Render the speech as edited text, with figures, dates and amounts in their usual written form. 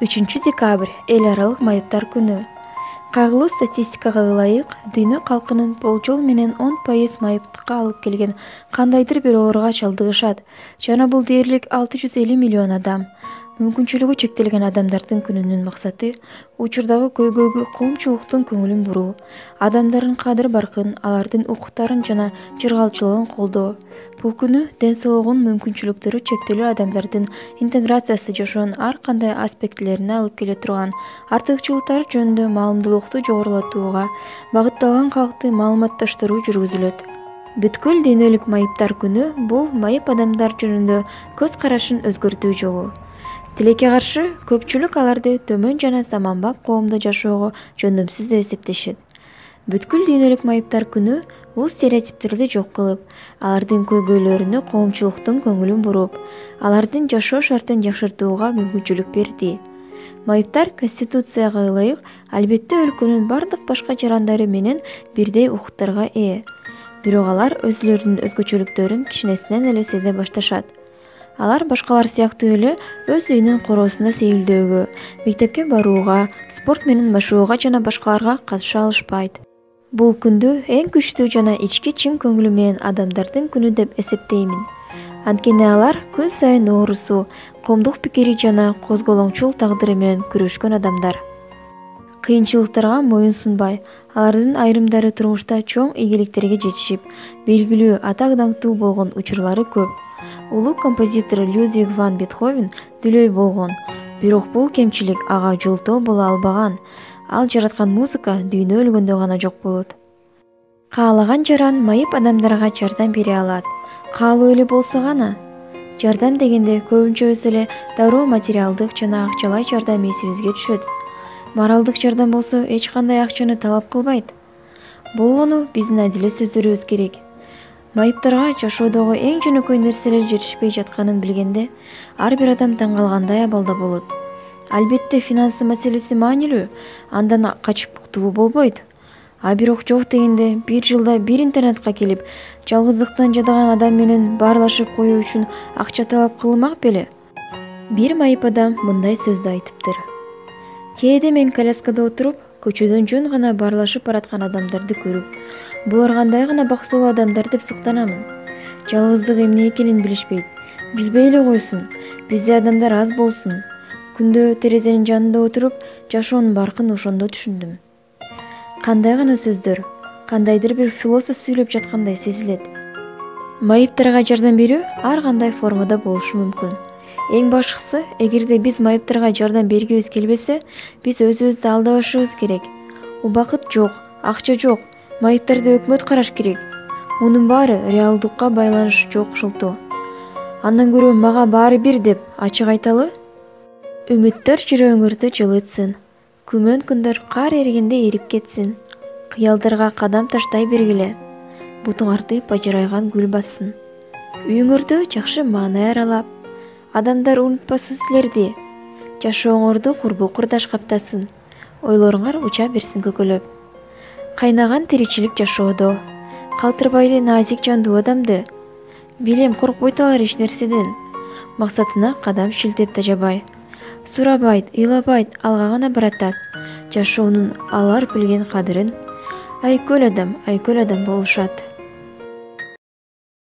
3-декабрь — эл аралык майыптар күнү. Кайгылуу статистикага ылайык, дүйнө калкынын болжол менен 10% майыптыкка алып келген кандайдыр бир ооруга чалдыгышат жана бул дээрлик 650 миллион адам. Мүмкүнчүлүгү чектелген адамдардын күнүнүн максаты учурдагы көйгөйгө коомчулуктун көңүлүн буруу, адамдардын кадыр-баркын, алардын укуктарын жана жыргалчылыгын колдоо. Бул күнү ден соолугун мүмкүнчүлүктөрү чектелүү адамдардын интеграциясы жашоонун ар кандай аспектилерине алып келе турган артыкчылыктары жөнүндө маалымдуулукту жогорулатууга багытталган калктык маалыматташтыруу жүргүзүлөт. Бүткүл дүйнөлүк майыптар күнү — бул майып адамдар жөнүндө көз карашын өзгөртүү жолу. Тилекке каршы, көпчүлүк аларды төмөн жана заманбап коомдо жашоого жөндөмсүз деп эсептешет. Бүткүл дүйнөлүк майыптар күнү бул стереотиптерди жок кылып, алардын көйгөйлөрүнө коомчулуктун көңүлүн буруп, алардын жашоо шартын жакшыртууга мүмкүнчүлүк берди. Майыптар Конституцияга ылайык албетте өлкөнүн бардык башка жарандары менен бирдей укуктарга ээ. Бирок алар өзүлөрүнүн өзгөчөлүктөрүн кичинесинен эле сезе башташат. Алар башкалар сыяктуу эле өз үйүнүн короосунда сейилдөөгө, мектепке барууга, спорт менен машыгууга жана башкаларга катыша алышпайт. Бул күндү эң күчтүү жана ички чын көңүлү менен адамдардын күнү деп эсептеймин. Анткени алар күн сайын оорусу, коомдук пикири жана козголоңчул тагдыры менен күрөшкөн адамдар. Кыйынчылыктарга моюн сунбай, алардын айрымдары турмушта чоң ийгиликтерге жетишип, белгилүү, атак-даңктуу болгон учурлары көп. Улуу композитор Людвиг ван Бетховен дүлөй болгон, бирок бул кемчилик ага жолтоо боло албаган. Ал жараткан музыка дүйнө өлгөндө гана жок болот. Каалаган жаран майып адамдарга жардам бере алат. Каалоо эле болсо гана. Жардам дегенде көбүнчөсү эле дароо материалдык жана акчалай жардам эсибизге түшөт. Моралдык жардам болсо эч кандай акчаны талап кылбайт. Болгону биздин адил сөздөрүбүз керек. Майыптарга жашоодогу эң жөнөкөй нерселер жетишпей жатканын билгенде, ар бир адам таң калгандай абалда болот. Албетте финансы маселеси маанилүү, андан качып кутулуу болбойт. А бирок жок дегенде бир жылда бир интернетке келип, жалгыздыктан жадаган адам менен баарлашып коюу үчүн акча талап кылынмак беле? Бир майып адам мындай сөздү айтыптыр. Кээде мен коляскада отуруп, көчөдөн жөн гана баарлашып бараткан адамдарды көрүп, булар кандай гана бактылуу адамдар деп суктанамын. Жалгыздык эмне экенин билишпейт. Билбей эле койсун, бизде адамдар аз болсун. Күндө терезенин жанында отуруп, жашоонун баркын ошондо түшүндүм. Кандай гана сөздөр, кандайдыр бир философ сүйлөп жаткандай сезилет. Майыптарга жардам берүү ар кандай формада болушу мүмкүн. Эң башкысы, эгерде биз майыптарга жардам бергибиз келбесе, биз өзүбүздү алдабашыбыз керек. Убакыт жок, акча жок, майыптарды өкмөт караш керек. Мунун баары реалдыкка байланышы жок шылтоо. Андан көрө мага баары бир деп ачык айталы. Үмүттөр жүрөгүңөрдү жылытсын. Күмөн күндөр кар эригенде эрип кетсин. Кыялдарга кадам таштай бергиле. Бутуңарды бажырайган гүл бассын. Үйүңөрдү жакшы маанай аралап, адамдар унутпасын силерди. Жашооңорду курбу курдаш каптасын. Ойлоруңар уча берсин көкөлөп. Кайнаган тиричилик жашоодо, калтырбайлы назик жандуу адамды. Билем коркпойт алар эч нерседен. Максатына кадам шилтеп тажабай. Сурабайт, ыйлабайт, алга гана баратат. Жашоонун алар билген кадырын айкөл адам болушат.